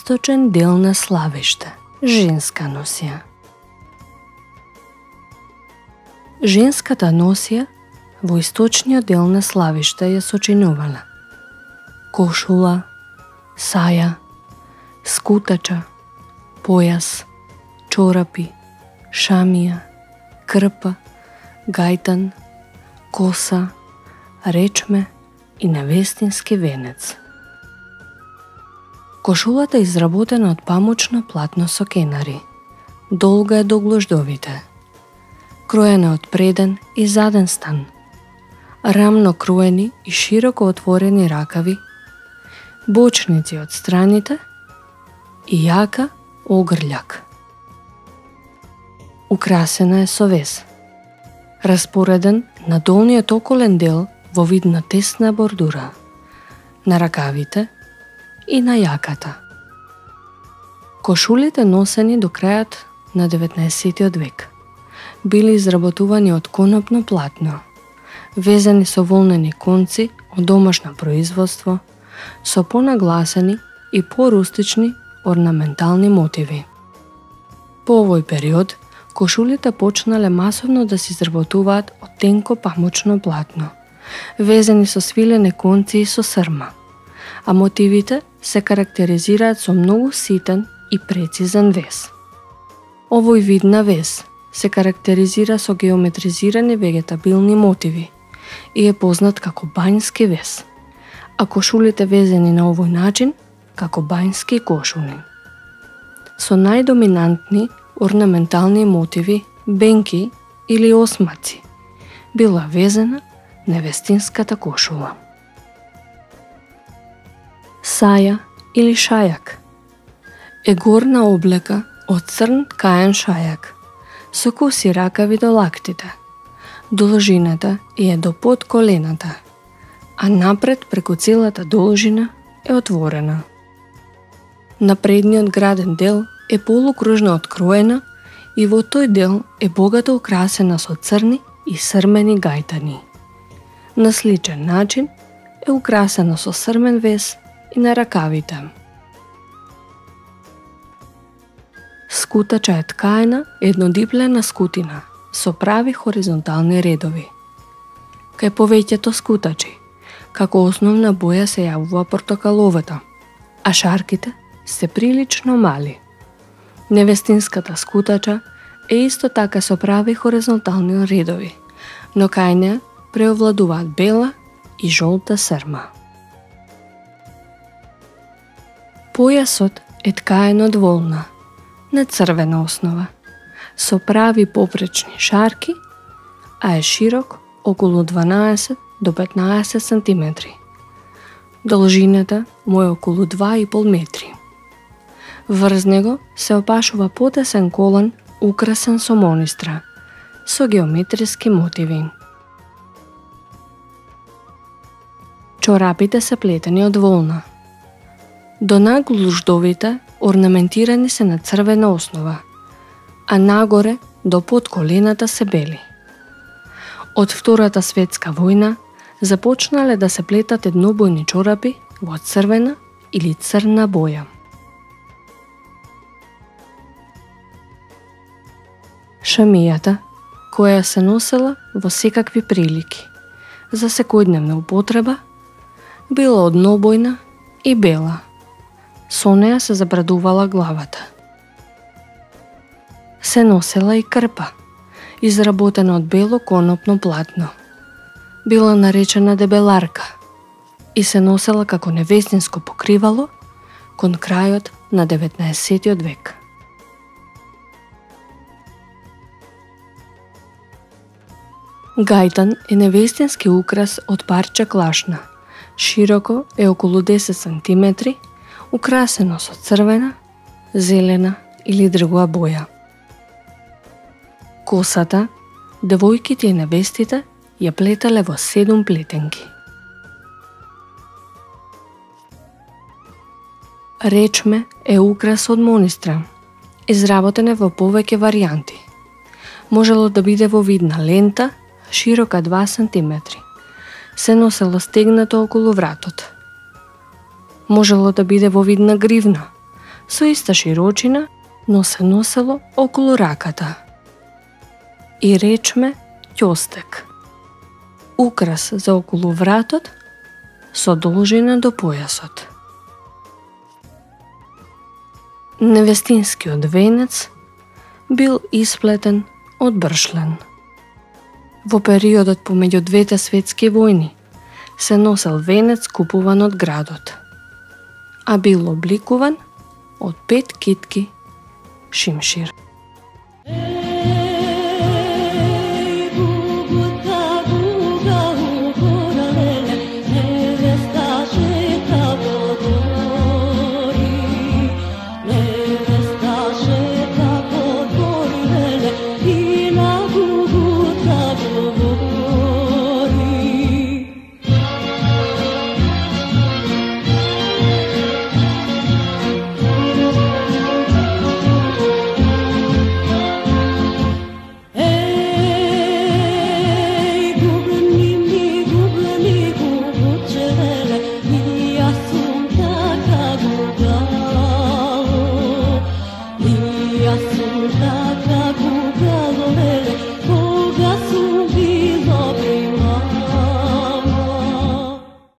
источен дел на Славиште, женска носија. Женската носија во источниот дел на Славиште ја сочинувала кошула, саја, скутача, појас, чорапи, шамија, крпа, гајтан, коса, речме и невестински венец. Кошулата е изработена од памучно платно со кенари. Долга е до глуждовите. Кроена од преден и заден стан. Рамно кроени и широко отворени ракави, бочници од страните и јака огрљак. Украсена е со вез, распореден на долниот околен дел во вид на тесна бордура, на ракавите и на јаката. Кошулите носени до крајот на 19 век били изработувани од конопно платно, везени со волнени конци од домашно производство, со понагласени и порустични орнаментални мотиви. По овој период, кошулите почнале масовно да се изработуваат од тенко памучно платно, везени со свилени конци и со срма, а мотивите се карактеризираат со многу ситен и прецизен вез. Овој вид на вез се карактеризира со геометризирани вегетабилни мотиви и е познат како бањски вез, а кошулите везени на овој начин како бањски кошули. Со најдоминантни орнаментални мотиви, бенки или осмаци, била везена невестинската кошула. Саја или шајак е горна облека од црн ткаен шајак, со коси ракави до лактите, должината е до под колената, а напред преку целата должина е отворена. На предниот граден дел е полукружно откроена и во тој дел е богато украсена со црни и срмени гајтани. На сличен начин е украсена со срмен вез и на ракавите. Скутача е ткаена еднодиплена скутина со прави хоризонтални редови. Кај повеќето скутачи, како основна боја се јавува портокаловата, а шарките се прилично мали. Невестинската скутача е исто така со прави хоризонтални редови, но кај неа преовладуваат бела и жолта срма. Појасот е ткаен од волна, на црвена основа, со прави попречни шарки, а е широк околу 12 до 15 см. Должината му е околу 2,5 метри. Врз него се опашува потесен колан украсен со монистра, со геометриски мотиви. Чорапите се плетени од волна. До наглуждовите орнаментирани се на црвена основа, а нагоре до под колената се бели. Од Втората светска војна започнале да се плетат еднобојни чорапи во црвена или црна боја. Шамијата, која се носела во секакви прилики, за секојдневна употреба, била однобојна и бела. Со неа се забрадувала главата. Се носела и крпа, изработена од бело конопно платно. Била наречена дебеларка и се носела како невестинско покривало кон крајот на 19 век. Гајтан е невестински украс од парче клашна. Широко е околу 10 см, украсено со црвена, зелена или другава боја. Косата, девојките и невестите ја плетале во 7 плетенки. Речме е украс од монистра, изработен е во повеќе варијанти. Можело да биде во вид на лента, широка 2 см. Се носело стегнато околу вратот. Можело да биде во вид на гривна, со иста широчина, но се носело околу раката. И речме ќостек, украс за околу вратот со должина до појасот. Невестинскиот венец бил исплетен од бршлен. Во периодот помеѓу двете светски војни се носел венец купуван од градот, а бил обликуван од 5 китки шимшир.